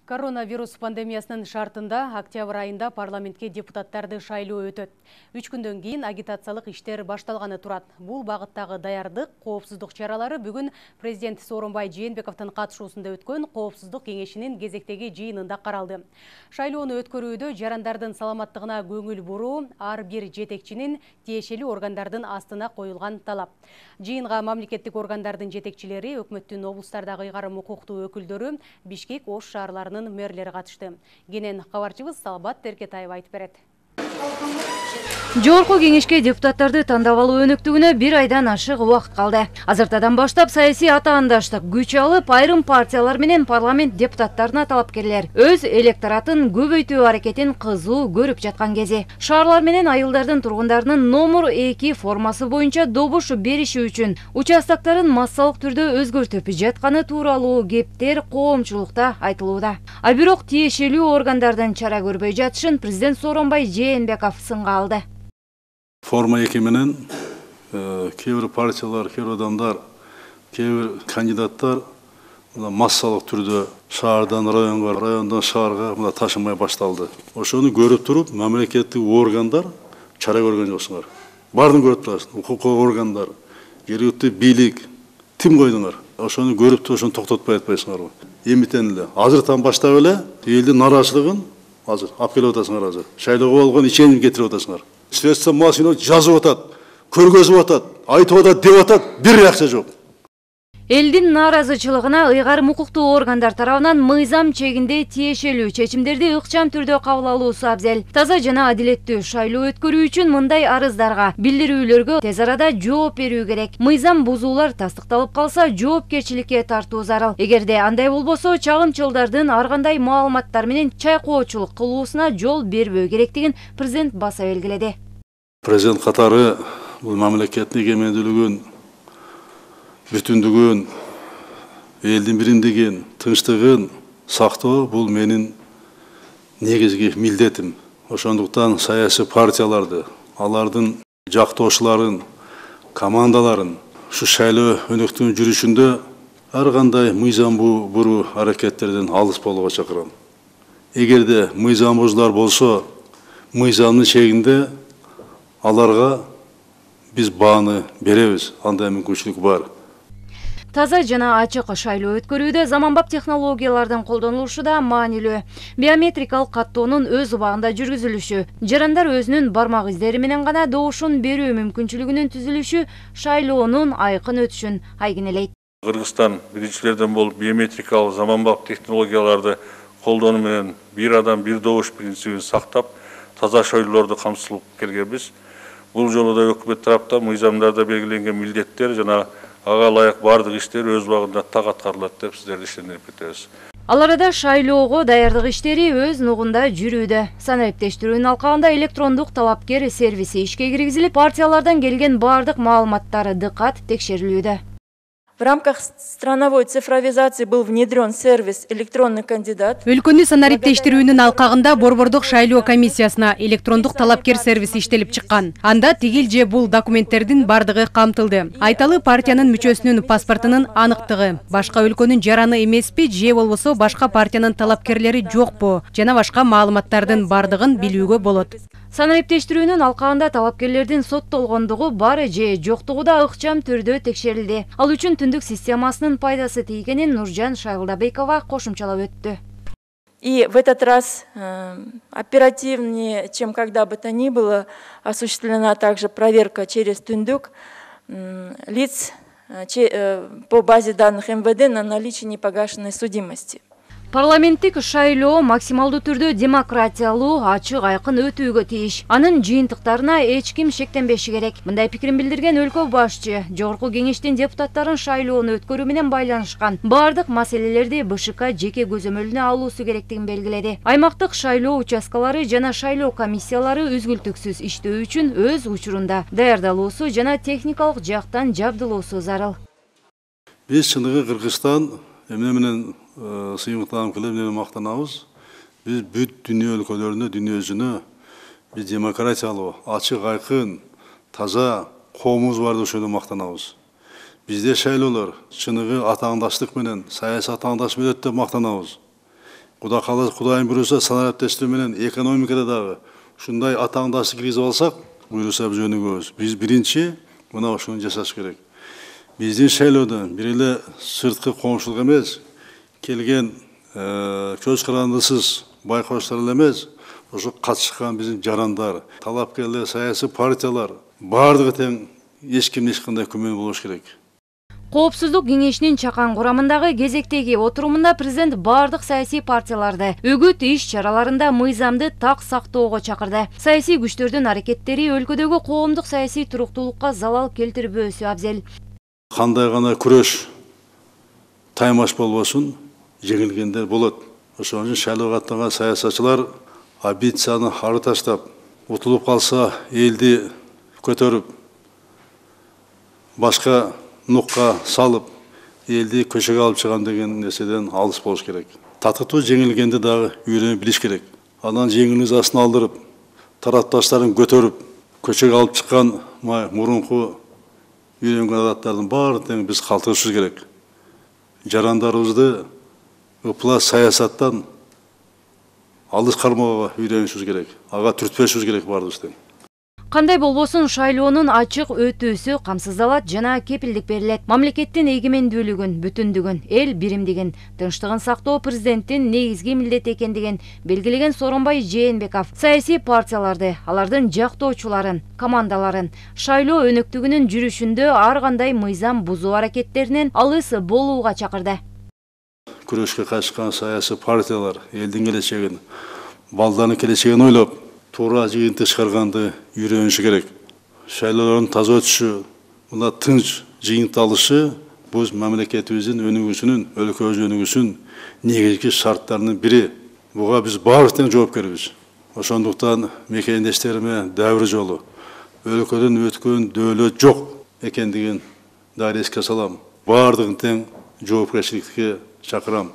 Коронавирус пандемиясынын шартында октябрь айында парламентке депутаттарды шайлоо өтөт. 3 күндөн кийин агитациялык иштер башталганы турат. Бул багыттагы даярдык, коопсуздук чаралары бүгүн президент Сооронбай Жээнбековдун катышуусунда өткөн коопсуздук кеңешинин кезектеги жыйынында каралды. Шайлоону өткөрүүдө жарандардын саламаттыгына көңүл буруу ар бир жетекчинин тиешелүү органдардын астына коюлган талап. Жыйынга мамлекеттик органдардын жетекчилери, өкмөттүн облустардагы ыйгарым укуктуу өкүлдөрү, Бишкек, Ош шаарларынын мэрлери катышты. Кенен кабарчыбыз Салбат Теркетаева айтып берет. Жогорку кеңешке депутаттарды тандап алуу өнөктүгүнө 1 айдан ашык убакыт калды. Азыртадан баштап саясий атаандаштык күч алып, айрым партиялар менен парламент депутаттарына талапкерлер өз электоратын көбөйтүү аракетин кызуу көрүп жаткан кези. Шаарлар менен айылдардын тургундарынын номер 2 формасы боюнча добуш бериши үчүн участоктарын массалык түрдө өзгөртүп жатканы тууралуу кептер коомчулукта айтылууда. А бирок тиешелүү органдардын чара көрбөй жатышын президент Сооронбай Жээнбеков сынга алды. Форма 2 менен кээ бир партиялар, кээ бир адамдар, кээ бир кандидаттар массалык түрдө шаардан районго, райондон шаарга ташымай башталды. Ошону көрүп туруп, мамлекеттик органдар чара көргөн жоксуңар. Баарын көрүп турасың, укук органдар, жергиликтүү бийлик, тим койдуңар. Ошону көрүп туруп, ошону токтотпой атпайсыңарбы? Эмитен эле азыртан баштап эле элдин нараачылыгын азыр алып келип атасыңар азыр. Шайлоого болгон иченим кетирип атасыңар. Средства массового жазып атат, көргөзүп атат, айтып атат, деп атат, бир акча жок. Элдин нааразычылыгына ыйгарым укуктуу органдар тарабынан мыйзам чегинде тиешелүү чечимдерди ыкчам түрдө кабыл алуусу абзел. Таза жана адилеттүү шайлоо өткөрүү үчүн мындай арыздарга, билдирүүлөргө тез арада жооп берүү керек. Мыйзам бузуулар тастыкталып калса, жоопкерчиликке тартуу зарыл. Эгерде андай болбосо, чагымчылдардын ар кандай маалыматтар менен чайкоочулук кылуусуна жол бербөө керектигин президент баса белгиледи. Президент катары бул мамлекеттин эгемендүүлүгүн, бүтүндүгүн, элдин биримдигин, тынчтыгын сактоо бул менин негизги милдетим. Ошондуктан саясий партияларды, алардын жактоочуларын, командаларын ушу шайлоо өнөктүгүнүн жүрүшүндө ар кандай мыйзам буруу аракеттерден алыс болууга чакырам. Эгерде мыйзам бузуулар болсо, мыйзамдын чегинде аларга биз бааны беребиз, андай мүмкүнчүлүк бар. Таза жана ачык шайлоо өткөрүүдө заманбап технологиялардын колдонулушу да маанилүү. Биометрикалык каттоонун өз убагында жүргүзүлүшү, жарандар өзүнүн бармак издери менен гана добушун берүү мүмкүнчүлүгүнүн түзүлүшү шайлоонун айкын өтүшүн айгинелейт. Кыргызстан биринчилерден болуп биометрикалык заманбап технологияларды колдонуу менен бир адам бир добуш принцибин сактап, таза шайлоолорду камсыздап келгенбиз. Бул жолу да өкмөт тараптан мыйзамдарда белгиленген милдеттер жана ага ылайык бардык иштер өз убагында так аткарылат деп сиздерди ишендирип кетебиз. Ал арада шайлоого даярдык иштери өз нугунда жүрүүдө. Санариптештирүүнүн алкагында электрондук талапкер сервиси ишке киргизилип, партиялардан келген бардык маалыматтар дыкат текшерилүүдө. В рамках страновой цифровизации был внедрен сервис «Электронный кандидат». Өлкөнү санариптештирүүнүн алкагында Борбордук шайлоо комиссиясына электрондук талапкер сервиси иштелип чыккан. Анда тигил же бул документтердин бардыгы камтылды. Айталы партиянын мүчөсүнүн паспортунун аныктыгы, башка өлкөнүн жараны эмеспи же болбосо башка партиянын талапкерлери жокпу жана башка маалыматтардын бардыгын билүүгө болот. Санариптештирүүнүн алкагында талапкерлердин соттолгондугу бары же жоктугу да ыкчам түрдө текшерилди. Ал үчүн түндүк системасынын пайдасы тийгенин Нуржан Шайылдабекова кошумчалап өттү. И в этот раз оперативнее, чем когда бы то ни было, осуществлена также проверка через түндүк лиц по базе данных МВД на наличие непогашенной судимости. Парламенттик шайлоо максималдуу түрдө демократиялуу, ачык, айкын өтүүгө тийиш. Анын жыйынтыктарына эч ким шектенбеши керек. Мындай пикирин билдирген өлкө башчы жогорку кеңештин депутаттарын шайлоону өткөрүү менен байланышкан бардык маселелерди БШК жеке көзөмөлүнө алуусу керектигин белгиледи. Аймактык шайлоо участкалары жана шайлоо комиссиялары үзгүлтүксүз иштөө үчүн өз учурунда даярдалуусу жана техникалык жактан жабдылуусу зарыл. Биз чыныгы Кыргызстан эмне менен сыймыктанып келип мактанабыз. Биз бүт дүйнө өлкөлөрүнө, дүйнө жүзүнө биз демократиялуу, ачык, айкын, таза коомубуз бар деп ошондо мактанабыз. Бизде шайлоолор чыныгы атаандаштык менен, саясий атаандаштык менен деп мактанабыз. Кудай кааласа, Кудайым буйруса, санариптештүү менен экономикада дагы ушундай атааңдашты киргизип алсак, буйруса биз өнүгөбүз. Биз биринчи мына ушуну жасаш керек. Биздин шайлоодон бир эле сырткы коңшулук эмес, келген көз карандысыз байкоочулар эле эмес, ошо катышкан биздин жарандар, талапкерлер, саясий партиялар баардыгы тең, эч кимде эч кандай күмөн болуш керек. Коопсуздук кеңешинин чакан курамындагы кезектеги отурумунда президент бардык саясий партияларды үгүт иш чараларында мыйзамды так сактоого чакырды. Саясий күчтөрдүн аракеттери өлкөдөгү коомдук саясий туруктуулукка залал келтирбөөсү абзел. Кандай гана күрөш таймаш болбосун, жеңилгендер болот. Ошон үчүн шайлоого аттанган саясатчылар амбицияны ары таштап, утулуп калса элди көтөрүп, башка нукка салып, элди көчөгө алып чыгам деген нерседен алыс болуш керек. Татыктуу жеңилгенди дагы үйрөнүп билиш керек. Анан жеңилиңиз астына алдырып, тарапташтарын көтөрүп, көчөгө алып чыккан мурунку үйрөнгөн адаттардын баарын тең биз калтырышыбыз керек. Жарандарыбызды ыплас саясаттан алыс кармоого үйрөнүшүбүз керек. Ага түртпөшүбүз керек баарыбыз тең. Кандай болбосун шайлоонун ачык өтүүсү камсыздалат жана кепилдик берилет. Мамлекеттин эгемендүүлүгүн, бүтүндүгүн, эл биримдигин, тынчтыгын сактоо президенттин негизги милдети экендигин белгилеген Сооронбай Жээнбеков саясий партияларды, алардын жактоочуларын, командаларын шайлоо өнөктүгүнүн жүрүшүндө ар кандай мыйзам бузуу аракеттеринен алыс болууга чакырды. Күрөшкө катышкан саясий партиялар элдин келечегин, балдардын келечегин ойлоп, туура жыйынтык чыгарганды үйрөнүшү керек. Шайлоолордун таза өтүшү, мына тынч жыйынтык алышы бул мамлекетибиздин өнүгүүсүнүн, өлкөбүздүн өнүгүүсүнүн негизги шарттарынын бири. Буга биз баардык тең жоопкербиз. Ошондуктан мекендештериме дәвир жолу, өлкөдөн өткөн дөөлөт жок экендигин дагы эске салам. Баардыгын тең жоопкерчиликке чакырам.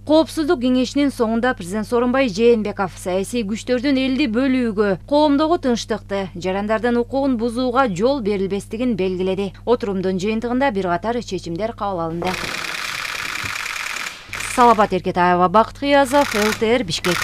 Коопсуздук кеңешинин соңунда президент Сооронбай Жээнбеков саясий күчтөрдүн элди бөлүүгө, коомдогу тынчтыкты, жарандардын укугун бузууга жол берилбестигин белгиледи. Отурумдун жыйынтыгында бир катар чечимдер кабыл алынды. Салабат Эркетаева, Бакыт Кыязов, ЛТР, Бишкек.